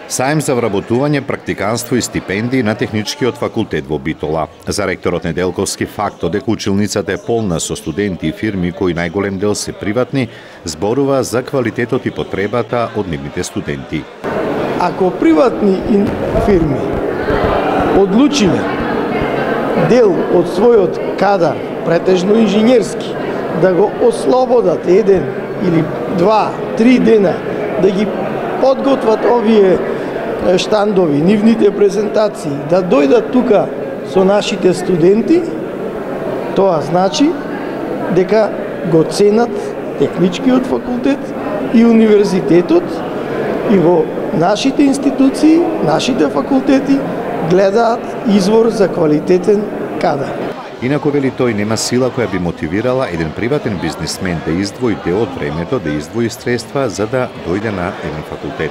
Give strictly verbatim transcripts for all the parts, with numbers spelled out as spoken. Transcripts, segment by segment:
Саем за вработување, практиканство и стипендии на Техничкиот факултет во Битола. За ректорот Неделковски фактот дека училницата е полна со студенти и фирми кои најголем дел се приватни, зборува за квалитетот и потребата од нивните студенти. Ако приватни фирми одлучиле дел од својот кадар, претежно инженерски, да го ослободат еден или два, три дена, да ги подготват овие штандови, нивните презентации, да дојдат тука со нашите студенти, тоа значи дека го ценат Техничкиот факултет и универзитетот, и во нашите институции, нашите факултети гледаат извор за квалитетен кадар. Инаку, вели тој, нема сила која би мотивирала еден приватен бизнисмен да издвои дел од времето, да издвои средства за да дојде на еден факултет.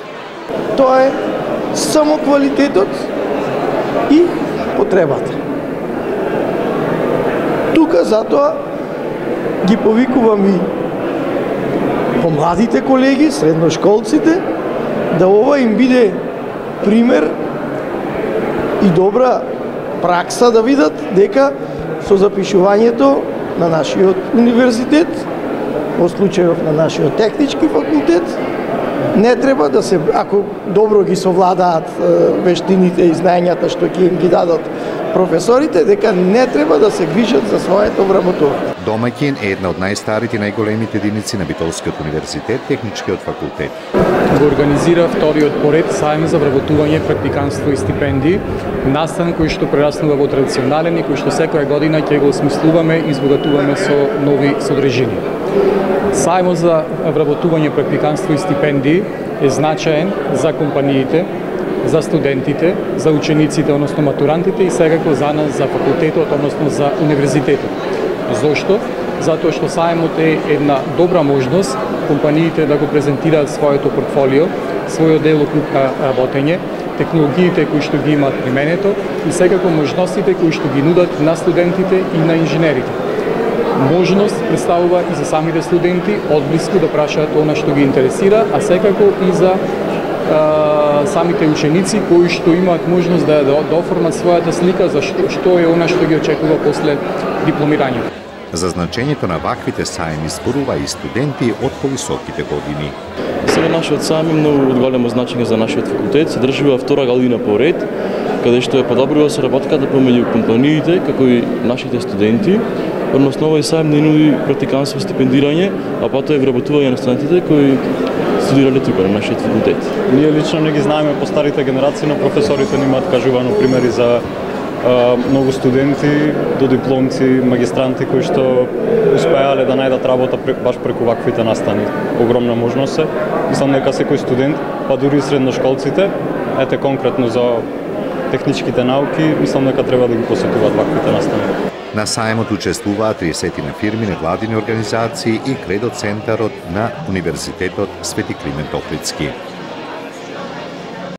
Тоа е само квалитетот и потребата. Тука затоа ги повикувам и помладите колеги, средношколците, да ова им биде пример и добра пракса да видат дека со запишувањето на нашиот универзитет, во случајов на нашиот технички факултет, не треба да се, ако добро ги совладаат вештините и знаењата што ќе им ги дадат професорите, дека не треба да се грижат за своето вработување. Домаќин е една од најстарите и најголемите единици на Битолскиот универзитет, Техничкиот факултет. Го организира вториот поред саем за вработување, практиканство и стипендии, настан кој што прераснува во традиционален и кој што секоја година ќе го осмислуваме и избогатуваме со нови содржини. Саемот за вработување, практиканство и стипендии е значаен за компаниите, за студентите, за учениците, односно матурантите и секако за нас, за факултетот, односно за универзитетот. Зошто? Затоа што саемот е една добра можност компаниите да го презентираат своето портфолио, својот делокруг на работење, технологиите кои што ги имаат применето и секако можностите кои што ги нудат на студентите и на инженерите. Можност представува и за самите студенти одблиску да прашаат она што ги интересира, а секако и за а, самите ученици кои што имаат можност да, да, да оформат својата слика за што, што е она што ги очекува после дипломирањето. За значењето на ваквите саеми зборува и студенти од повисоките години. Сега нашиот саем е многу од големо значење за нашиот факултет, се држува втора година поред, каде што е подобрува соработката помеѓу компаниите како и нашите студенти. Односно, овој саем не нуди практиканство и стипендирање, а потоа е вработување на студентите кои студирале тука на нашиот факултет. Ние лично не ги знаеме по старите генерации, но професорите ни имаат кажувано примери за Uh, многу студенти, додипломци, магистранти кои што успеале да најдат работа баш преку ваквите настани. Огромна можност е. Мислам дека секој студент, па дури и средношколците, ете конкретно за техничките науки, мислам дека треба да ги посетуваат ваквите настани. На саемот учествуваат триесет на фирми, невладини организации и кредо центарот на Универзитетот Свети Климент Охридски.